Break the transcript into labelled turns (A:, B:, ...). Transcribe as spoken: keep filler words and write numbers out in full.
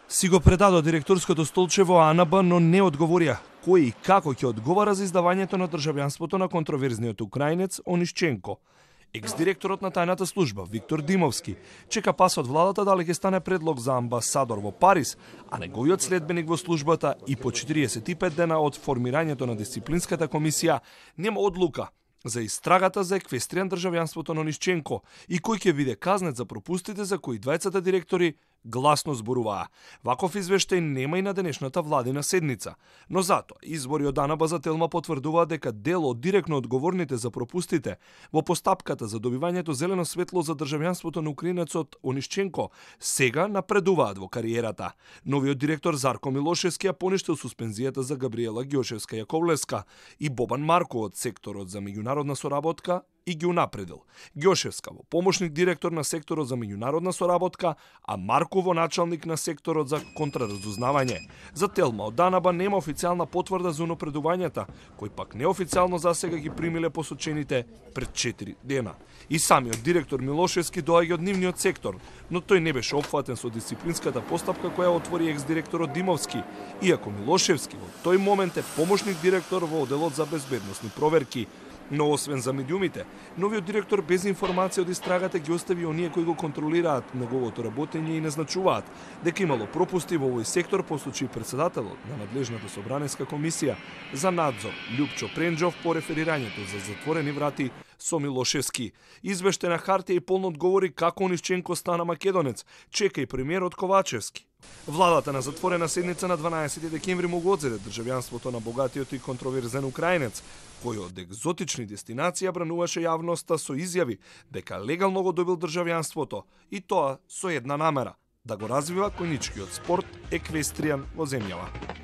A: Си го предадо директорското столче во А Н Б, но не одговорија кој и како ќе одговара за издавањето на државјанството на контроверзниот украинец Онишченко. Екс-директорот на тајната служба Виктор Димовски чека пас од владата дали ќе стане предлог за амбасадор во Париз, а неговиот следбеник во службата и по четириесет и пет дена од формирањето на дисциплинската комисија нема одлука за истрагата за еквестријан државјанството на Онишченко и кој ќе биде казнет за пропустите за кои двајцата директори гласно зборуваа. Ваков извештај нема и на денешната владина седница, но затоа извори од А Н Б за Телма потврдуваат дека дел од директно одговорните за пропустите во постапката за добивањето зелено светло за државјанството на украинецот Онишченко сега напредуваат во кариерата. Новиот директор Зарко Милошевски ја поништил суспензијата за Габриела Ѓошевска-Јаковлевска и Бобан Марко од секторот за меѓународна соработка и ги унапредил. Ѓошевска во помошник директор на секторот за меѓународна соработка, а Марко во началник на секторот за контраразузнавање. За Телма од А Н Б нема официјална потврда за унапредувањата, кои пак неофицијално засега ги примиле посочените пред четири дена. И самиот директор Милошевски доаѓа од нивниот сектор, но тој не беше опфатен со дисциплинската постапка која отвори екс-директорот Димовски, иако Милошевски во тој момент е помошник директор во одделот за безбедносни проверки. Но освен за медиумите, новиот директор без информација од истрагата ги остави оние кои го контролираат неговото работење и назначуваат дека имало пропусти во овој сектор по случај председателот на надлежната собраниска комисија за надзор Љупчо Пренџов по реферирањето за затворени врати со Милошевски. Извештај на хартија и полно одговори како Онишченко стана македонец, чека и премиерот Ковачевски. Владата на затворена седница на дванаесети декември му го одзеде државјанството на богатиот и контроверзен украинец, кој од екзотични дестинации брануваше јавноста со изјави дека легално го добил државјанството и тоа со една намера – да го развива коњичкиот спорт еквестријан во земјава.